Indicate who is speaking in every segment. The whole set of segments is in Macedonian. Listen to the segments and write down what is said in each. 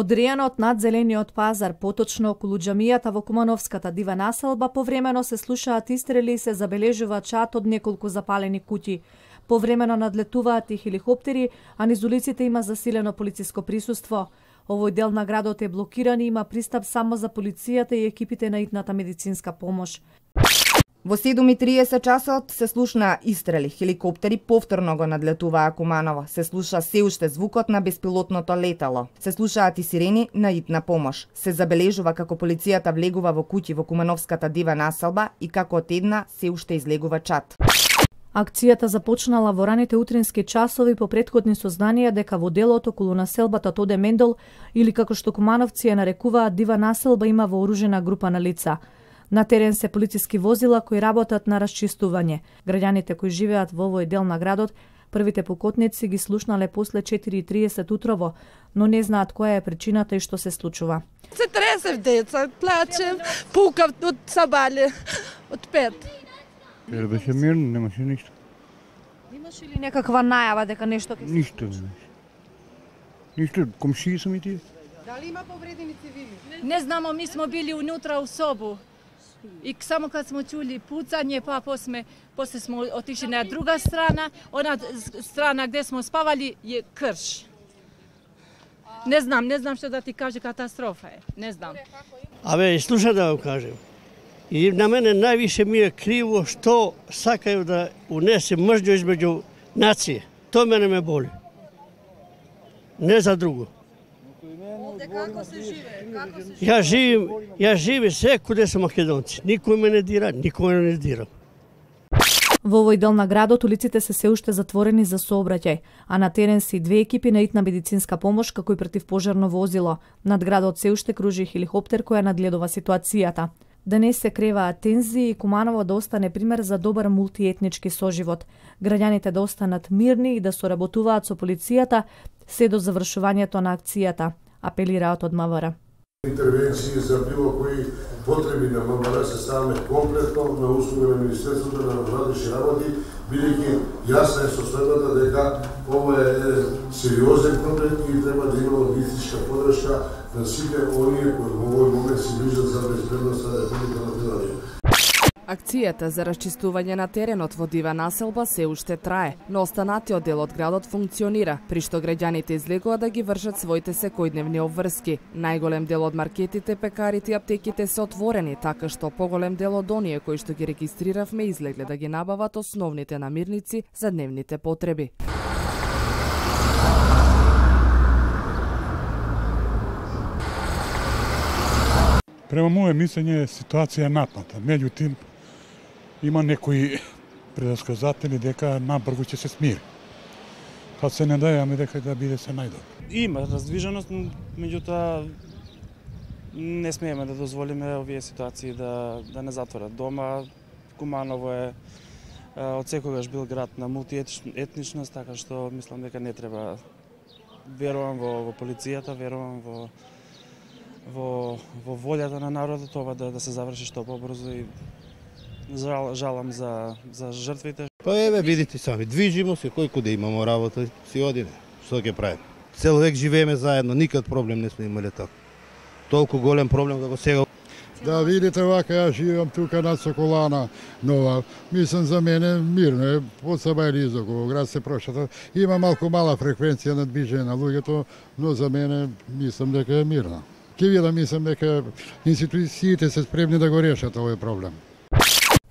Speaker 1: Одрејано од надзелениот пазар, поточно околу џамијата во Кумановската дива населба, повремено се слушаат истрели и се забележува чад од неколку запалени куќи. Повремено надлетуваат и хеликоптери, а низ улиците има засилено полициско присуство. Овој дел на градот е блокиран и има пристап само за полицијата и екипите на итната медицинска помош.
Speaker 2: Во 7:30 часот се слушна истрели, хеликоптери повторно го надлетуваа Куманово. Се слуша се уште звукот на беспилотното летало. Се слушаат и сирени на итна помош. Се забележува како полицијата влегува во куќи во Кумановската дива населба и како од една се уште излегува чад.
Speaker 1: Акцијата започнала во раните утрински часови по претходни сознанија дека во делот околу населбата Тоде Мендел, или како што кумановци ја нарекуваат дива населба, има вооружена група на лица. На терен се полициски возила кои работат на расчистување. Граѓаните кои живеат во овој дел на градот, првите покотници ги слушнале после 4:30 утрово, но не знаат која е причината и што се случува.
Speaker 3: Се тресев деца, плачев, пукав од сабале, од 5.
Speaker 4: Беше мирно, немаше ништо.
Speaker 1: Имаш ли некаква најава дека нешто ќе се
Speaker 4: Ништо не беше. Ништо, комшии сум и тие.
Speaker 3: Дали има повредени цивили?
Speaker 5: Не знамо, ми смо били унутра у собу. И само кад смо чули пуцање, па после смо отишли на друга страна, она страна где смо спавали е крш. Не знам што да ти кажа, катастрофа е, не знам.
Speaker 6: Абе, слушај да вам кажем. И на мене највише ми е криво што сакају да унесе мржња измеѓу нација. Тоа мене ме боли. Не за друго.
Speaker 3: Како се живее?
Speaker 6: Ја живеем секој се македонци. Никој ме не дира, никој не дира.
Speaker 1: Во овој дел на градот улиците се уште затворени за сообраќај, а на терен се и две екипи на итна медицинска помош како и противпожарно возило. Над градот се уште кружи хеликоптер која надгледува ситуацијата. Денес се креваат тензии и Куманово да остане пример за добар мултиетнички соживот. Граѓаните да останат мирни и да соработуваат со полицијата се до завршувањето на акцијата, апелираат од МВР.
Speaker 7: Интервенции за било кои потреби на МВР се ставаме комплетно на услуга на Министерството на внатрешни работи, бидејќи јасна е состојбата дека ова е сериозен проблем и треба да има логистичка подршка на сите оние кои во овој момент се грижат за безбедноста на Република Македонија.
Speaker 8: Акцијата за расчистување на теренот во дива населба се уште трае, но останатиот дел од градот функционира, при што граѓаните излегува да ги вршат своите секојдневни обврски. Најголем дел од маркетите, пекарите и аптеките се отворени, така што поголем дел од оние кои што ги регистриравме излегле да ги набават основните намирници за дневните потреби.
Speaker 4: Према моје мислење, ситуација е напната. Меѓутим, има некои предсказатели дека набрзо ќе се смири. Па се надеваме дека да биде се најдобро.
Speaker 9: Има раздвиженост, меѓутоа не смееме да дозволиме овие ситуации да не затворат дома. Куманово е од секогаш бил град на мултиетничност, така што мислам дека не треба. Верувам во полицијата, верувам во волјата на народот ова да се заврши што побрзо и жалам за жртвите.
Speaker 10: Па еве видите сами, движимо се, кој куде имамо работа, си одиме. Што ќе правиме? Цел век живееме заедно, никад проблем не сме имале така. Толку голем проблем како сега.
Speaker 11: Да видите вака, ја живеам тука на Соколана нова. Мислам за мене мирно е, од Сабајли изоколу град се прошата. Има малку мала фреквенција на движење на луѓето, но за мене мислам дека е мирно. Ке видам, мислам дека институциите се спремни да го решат овој проблем.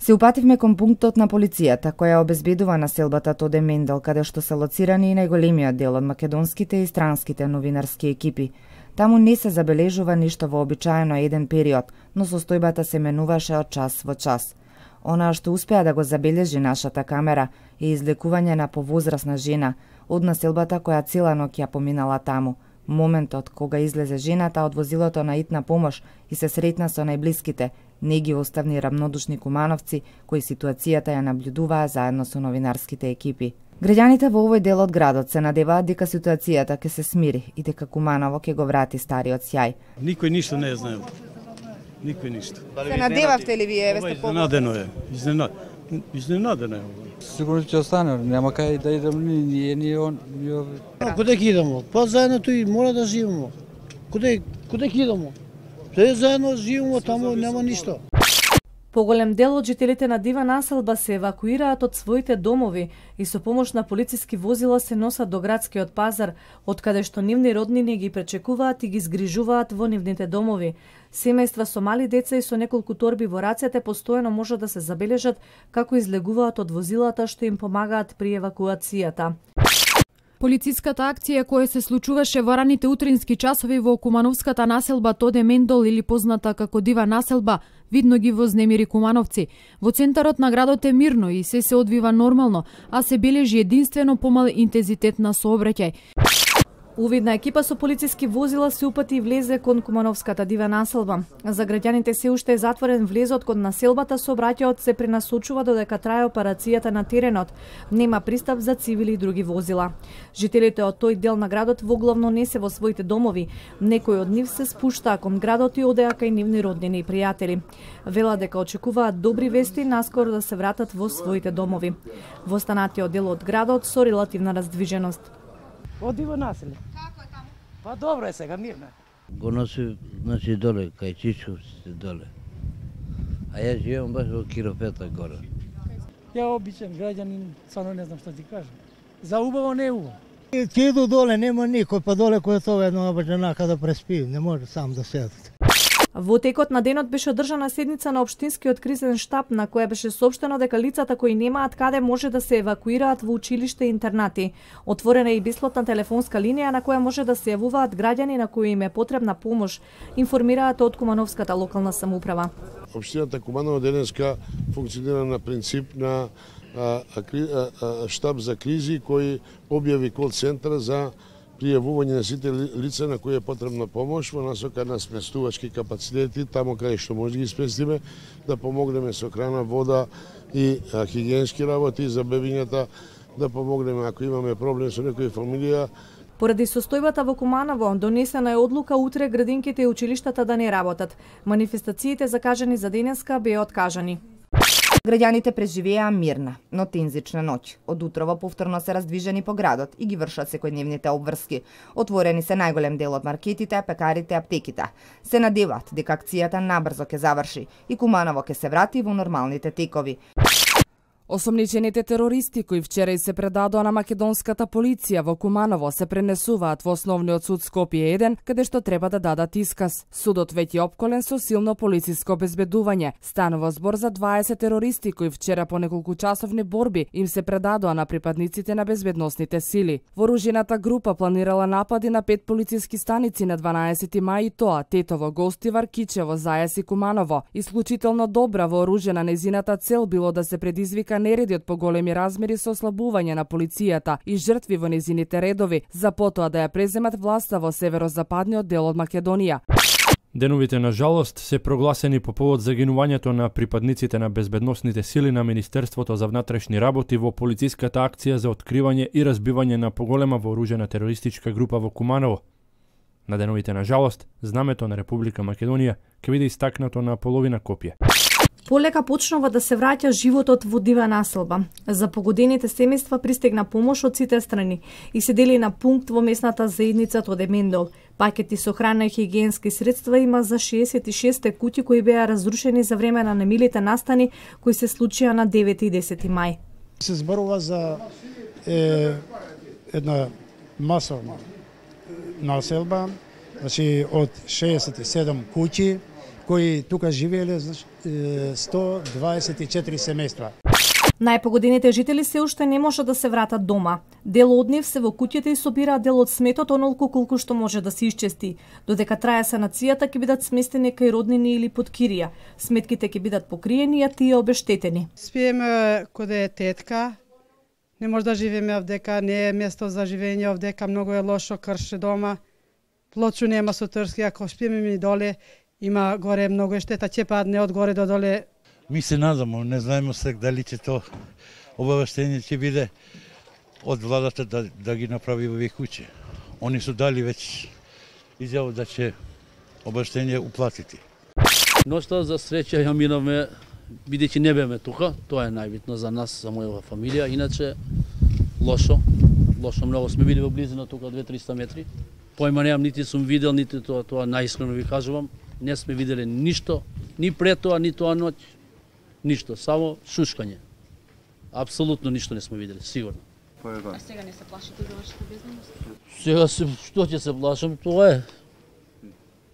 Speaker 2: Се упативме кон пунктот на полицијата, која обезбедува населбата Тоде Мендел, каде што се лоцирани и најголемиот дел од македонските и странските новинарски екипи. Таму не се забележува ништо вообичаено еден период, но состојбата се менуваше од час во час. Она што успеа да го забележи нашата камера е излекување на повозрасна жена од населбата која цела ноќ ја поминала таму. Моментот кога излезе жената од возилото на итна помош и се сретна со најблиските Не ги оставни рамнодушни кумановци, кои ситуацијата ја наблюдуваа заедно со новинарските екипи. Граѓаните во овој дел од градот се надеваат дека ситуацијата ќе се смири и дека Куманово ќе го врати стариот сјај.
Speaker 6: Никој ништо не знае. Никој ништо.
Speaker 2: Се надевавте ли вие?
Speaker 6: Изненадено е. Изненадено е.
Speaker 12: Сигурно ќе остане, нема кај да идем ни он.
Speaker 6: Куде ќе идемо? Па заедно тој мора да живееме. Куде ќе идемо? Се заедно живееме, таму нема ништо.
Speaker 1: Поголем дел од жителите на Дива населба се евакуираат од своите домови и со помош на полициски возила се носат до градскиот пазар, од каде што нивни роднини ги пречекуваат и ги згрижуваат во нивните домови. Семејства со мали деца и со неколку торби во рацете постојано може да се забележат како излегуваат од возилата што им помагаат при евакуацијата.
Speaker 13: Полициската акција која се случуваше во раните утрински часови во кумановската населба Тоде Мендол или позната како Дива населба, видно ги вознемири кумановци. Во центарот на градот е мирно и се одвива нормално, а се бележи единствено помал интензитет на сообраќај. Увидна екипа со полициски возила се упати и влезе кон кумановската Дива населба. За граѓаните се уште е затворен влезот кон населбата, сообраќајот се пренасочува додека трае операцијата на теренот. Нема пристап за цивили и други возила. Жителите од тој дел на градот воглавно не се во своите домови. Некои од нив се спуштаа кон градот и одеа кај нивни роднини и пријатели. Велат дека очекуваат добри вести наскоро да се вратат во своите домови. Во останатиот дел од градот со релативна раздвиженост.
Speaker 14: Оди во населе. Како е таму? Па добро е сега, мирно.
Speaker 15: Го носи, значи доле, кај Чичковците доле. А ја живеам баш во Киропета горе.
Speaker 14: Ја обичен граѓанин, само не знам што ти кажам. За убаво не е убаво.
Speaker 16: Ќе иду доле, нема никој, па доле кој е тоа една баџанака да преспи, не може сам да седат.
Speaker 1: Во текот на денот беше одржана седница на општинскиот кризен штаб на која беше соопштено дека лицата кои немаат каде може да се евакуираат во училиште и интернати. Отворена е и бесплатна телефонска линија на која може да се јавуваат граѓани на кои им е потребна помош, информираат од Кумановската локална самоуправа.
Speaker 7: Општината Куманово денеска функционира на принцип на штаб за кризи кој објави кол центар за пријавување на сите лица на кои е потребна помош во насока на сместувачки капацитети, тамо каде што може да ги сместиме, да помогнеме со храна, вода и хигиенски работи за бебињата, да помогнеме ако имаме проблем со некоја фамилија.
Speaker 1: Поради состојбата во Куманово, донесена е одлука утре градинките и училиштата да не работат. Манифестациите закажани за денеска беа откажани.
Speaker 2: Граѓаните преживеа мирна, но тензична ноќ. Од утрово повторно се раздвижени по градот и ги вршат секојдневните обврски. Отворени се најголем дел од маркетите, пекарите, аптеките. Се надеваат дека акцијата набрзо ќе заврши и Куманово ќе се врати во нормалните текови.
Speaker 8: Осомничените терористи кои вчера се предадоа на македонската полиција во Куманово се пренесуваат во Основниот суд Скопје 1, каде што треба да дадат исказ. Судот веќе опколен со силно полициско обезбедување. Станува збор за 20 терористи кои вчера по неколку часовни борби им се предадоа на припадниците на безбедносните сили. Вооружената група планирала напади на 5 полициски станици на 12 мај и тоа Тетово, Гостивар, Кичево, Зајас и Куманово. Исклучително добра вооружена нејзината цел било да се предизвика нереди од поголеми размери со ослабување на полицијата и жртви во незините редови, за потоа да ја преземат власта во северозападниот дел од Македонија.
Speaker 17: Деновите на жалост се прогласени по повод загинувањето на припадниците на безбедносните сили на Министерството за внатрешни работи во полициската акција за откривање и разбивање на поголема вооружена терористичка група во Куманово. На деновите на жалост, знамето на Република Македонија ќе биде истакнато на половина копија.
Speaker 1: Полека почнува да се враќа животот во Дива населба. За погодените семејства пристигна помош од сите страни и се дели на пункт во местната заедница Тоде Мендол. Пакети со храна и хигиенски средства има за 66 куќи кои беа разрушени за време на немилите настани кои се случија на 9 и 10 мај.
Speaker 18: Се зборува за една масовна населба, значи од 67 куќи кои тука живееле 124 семејства.
Speaker 1: Најпогодените жители се уште не може да се вратат дома. Дел од нив се во куќите и собираат дел од сметот онолку колку што може да се исчести. Додека трае санацијата ќе бидат сместени кај роднини или под кирија. Сметките ќе бидат покриени, а тие обештетени.
Speaker 19: Спиеме коде е тетка. Не може да живееме овдека, не е место за живење овдека, многу е лошо, крше дома. Плочу нема со трски, ако спиеме ми доле, Има горе многу штета, ќе падне од горе до доле.
Speaker 10: Ми се надamo, не знаеме сега дали ќе то обавештение ќе биде од владата да ги направи овие куќи. Они су дали веќе изјава да ќе обавештение уплатити.
Speaker 20: Ноќта за среќа ја минавме, бидејќи не беме тука, тоа е најбитно за нас, за мојава фамилија, иначе лошо многу сме били во близина тука 2-300 метри. Појма немам, нити сум видел, нити тоа наискрено ви кажувам, не сме виделе ништо, ни пред тоа, ни тоа ноќ, ништо, само шушкање. Апсолутно ништо не сме видели, сигурно.
Speaker 21: А сега не се плашите за вашата безбедност?
Speaker 20: Сега што ќе се плашам, тоа е.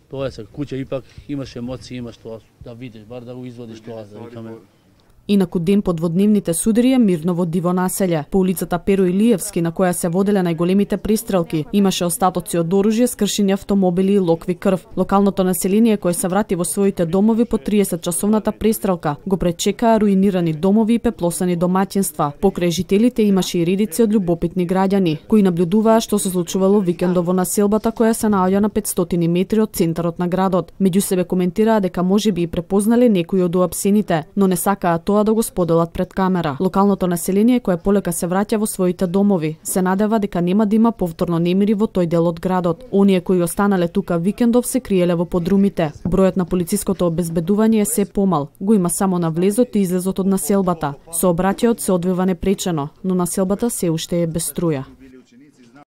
Speaker 20: Тоа е сега, куќа ипак имаш емоции, имаш тоа да видиш, бар да го извадиш тоа, да викаме.
Speaker 8: Инаку ден подводневните судари мирно во диво населје. По улицата Перо Илиевски, на која се воделе најголемите пристрелки, имаше остатоци од оружје, скршени автомобили и локви крв. Локалното население кое се врати во своите домови по 30-часовната пристрелка го пречекаа руинирани домови и пеплосани домаќинства. Покрај жителите имаше и редици од љубопитни граѓани, кои наблюдуваа што се случувало викендов во населбата која се наоѓа на 500 метри од центарот на градот. Меѓу себе коментираа дека можеби и препознале некои од уапсените, но не сакаа тоа да го споделат пред камера. Локалното население кое полека се враќа во своите домови, се надева дека нема да има повторно немири во тој дел од градот. Оние кои останале тука викендов се криеле во подрумите. Бројот на полициското обезбедување е се помал. Го има само на влезот и излезот од населбата. Сообраќајот се одвива непречено, но населбата се уште е без струја.